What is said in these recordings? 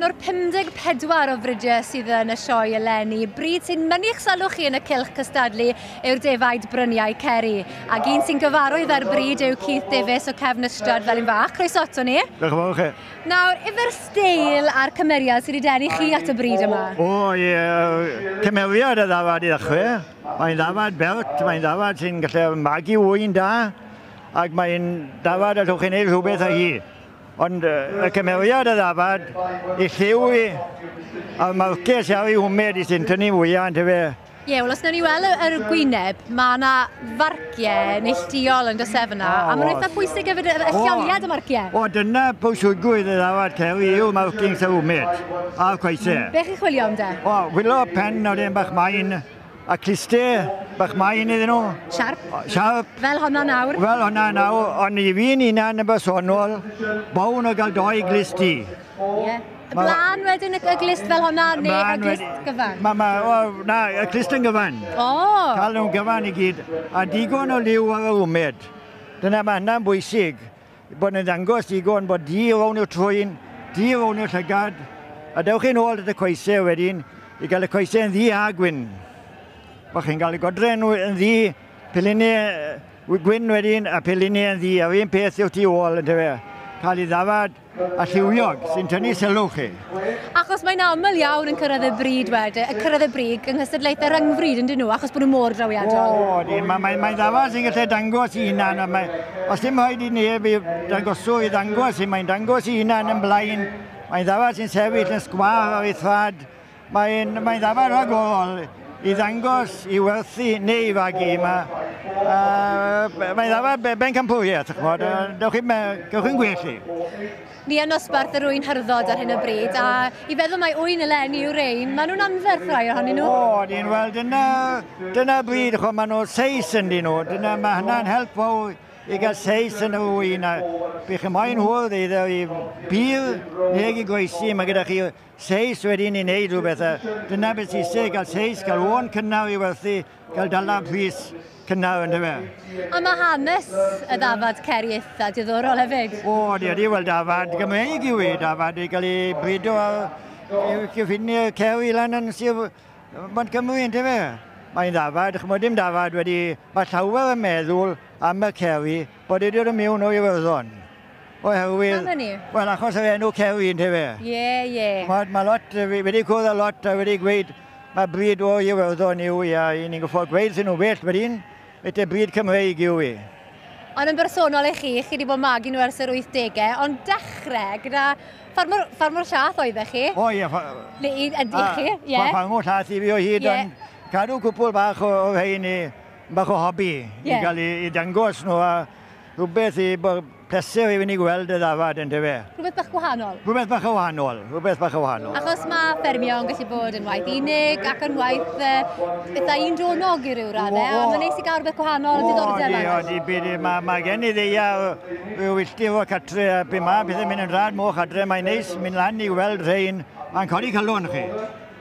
un o'r 54 o fridiau sydd yn y sioe eleni. Bryd sy'n mynnu'ch sylw chi yn y cylch cystadlu yw'r defaid Bryniau Ceri. Ac un sy'n gyfarwydd â'r bryd yw Keith Davies o Cefn Ystrad Felin-fach. Croeso ato ni. Diolch yn fawr chi. Nawr, efo'r steil a'r cymeriad sydd wedi denu chi at y bryd yma? O, ie, cymeriad y ddafad i ddechrau. Mae'n ddafad bert, mae'n ddafad sy'n gallu magu ŵyn da, ac mae'n ddafad allwch chi wneud rhywbeth â hi. Ond y cymeriad y ddafad, i lliw i, a'r marciau sy'n ar ei hwmed i sy'n tynnu fwyaf, yntefe? Ie, wel os wnawn ni weld yr gwyneb, mae yna farciau neilltuol yn does e fyna, a maen nhw'n eitha pwysig hefyd, y lleoliad y marciau. O, dyna pwysigrwydd y ddafad Ceri yw'r markings yr wmed, a'r coesau. Be chi'n chwilio am de? O, chwilio pen o'r un bach main, a cluste bach main iddyn nhw. Siarp. Siarp. Fel honna nawr. Fel honna nawr, ond i fi'n hunan yn bersonol, bawn o gael doi glust i. Ie. Y blaen wedyn y glust fel honna, neu y glust gyfan? O, na, y glust yn gyfan. O! Cael nhw'n gyfan i gyd, a digon o liw ar yr wmed. Dyna mae hynna'n bwysig, bod yn ddangos digon bod di rown i'r trwyn, di rown i'r llygad, a dewch chi'n ôl at y coesau wedyn, i gael y coesau yn ddu a gwyn. Bod chi'n cael y godre nhw yn ddu, pelinau gwyn wedyn, a pelinau yn ddu, a'r un peth yw'r tu ôl, yntefe. Cael ei ddafad a lliwiog sy'n tynnu sylw chi. Achos mae'n aml iawn yn cyrraedd y bryd wedyn, y cyrraedd y brig yng nghystadlaethau rhyngfryd yn dyn nhw, achos bod nhw mor drawiadol. O, di, mae'n mae, mae ddafad sy'n gallu dangos i hunan, a mae, os dim rhaid i neb i dangoswr i ddangos i, mae'n dangos i hunan yn blaen, mae'n ddafad sy'n sefyll yn sgwâr ar ei thraed, mae'n mae ddafad rhagorol i ddangos, i werthu neu i fagu. Mae'n ddafad bencampwriaeth, ch'mod, dewch chi'n gwell i. Ni yn nosbarth yr ŵyn hyrddod ar hyn o bryd, a i feddwl mai ŵyn eleni yw rein, maen nhw'n anferth rai ohonyn nhw. O, dyn, wel, dyna bryd, ch'mod, maen nhw seis yn dyn nhw, dyna, mae hynna'n help fawr i gael seis yn y ŵyn, a bych chi moyn hwrdd iddo i bir neu i groesi, mae gyda chi seis wedyn i wneud rhywbeth, a dyna beth sy'n eisiau, gael seis, gael ôn cynnar i werthu, gael dala pris cynnar yn dyfe. A mae hanes y ddafad Ceri eitha diddorol hefyd. O, di, ydi, wel dafad Gymreig yw e, dafad i gael ei brido ar cyffiniau Ceri lan yn Sir Montgomery yn dyfe. Mae'n ddafad, ch'mod dim dafad wedi, mae llawer yn meddwl am y Ceri bod wedi dod mewn o Iwerddon. Oherwydd... Pam hynny? Wel, achos yr enw Ceri yn dyfe. Ie, ie. Mae lot, wedi cwrdd â lot a wedi gweud mae bryd o Iwerddon yw i, a ni'n goffod gweud sy'n nhw well wedyn, beth y bryd Cymreig yw i. Ond yn bersonol i chi, chi wedi bod magu nhw ers yr 80au, ond dechrau gyda ffarmwr llath oeddech chi? O ie. Neu ydy chi, ie. Ffarmwr llath i fi o hyd, ond cadw cwpl bach o rhein i, bach o hobi, i gael i dangos nhw a rhywbeth i pleser i fynd i gweld y ddafad yn dyfe. Rhywbeth bach gwahanol? Rhywbeth bach o wahanol, rhywbeth bach o wahanol. Achos mae ffermio yn gallu bod yn waith unig ac yn waith eitha un dronog i ryw raddau, ond mae'n neis i gael rhywbeth gwahanol, diddordeb arall. O, di, mae gen i ddeia rhyw wylltir o catre, a be mae pethau'n mynd yn rhad moch adre, mae'n neis mynd lan i weld rhein, mae'n codi calon chi.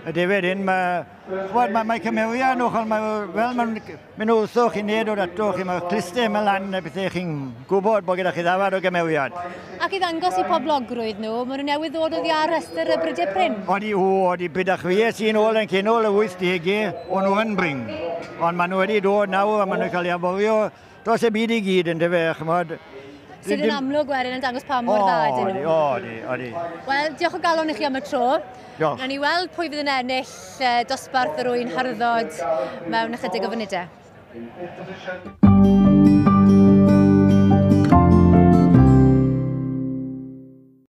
Y defed hyn, mae cymeriad nhw, fel mae'n mynd wrtho chi neu dod ato chi, mae'r clustau yma lan a bethau chi'n gwybod bod gyda chi ddafad o gymeriad. Ac i ddangos i poblogrwydd nhw, maen nhw newydd ddod oddi ar rhestr y brydiau prin. Odi, odi, byd a chwies i'n ôl yn cynol y 80au, o'n nhw yn brin. Ond maen nhw wedi dod nawr a maen nhw'n cael ei aforio dros y byd i gyd yn dyfe, ch'mod. Sydd yn amlwg wedyn yn dangos pa mor dda ydyn nhw. Odi, odi. Wel, diolch o galon i chi am y tro. Diolch. Nawn ni weld pwy fydd yn ennill dosbarth yr ŵyn hyrddod mewn ychydig o funudau.